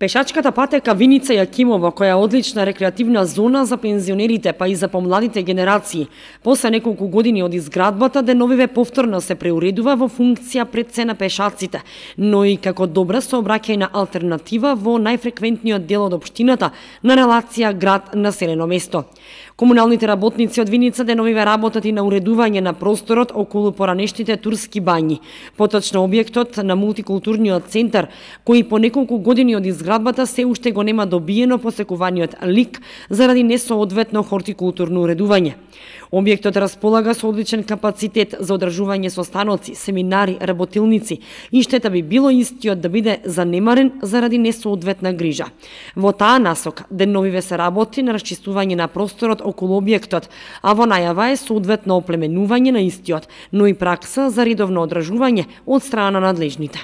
Пешачката патека Виница Јакимово, која е одлична рекреативна зона за пензионерите, па и за помладите генерации, после неколку години од изградбата, деновиве повторно се преуредува во функција пред се на пешаците, но и како добра сообраќајна алтернатива во најфреквентниот дел од општината на релација град-населено место. Комуналните работници од Виница деновиве работат и на уредување на просторот околу поранешните турски бањи, поточно објектот на мултикултурниот центар, кој по неколку години од изградбата се уште го нема добиено посекуваниот лик заради несоодветно хортикултурно уредување. Објектот располага со одличен капацитет за одржување состаноци, семинари, работилници и штета би било истиот да биде занемарен заради несоодветна грижа. Во таа насока деновиве се работи на расчистување на просторот околу објектот, а во најава е соодветно оплеменување на истиот, но и пракса за редовно одржување од страна на надлежните.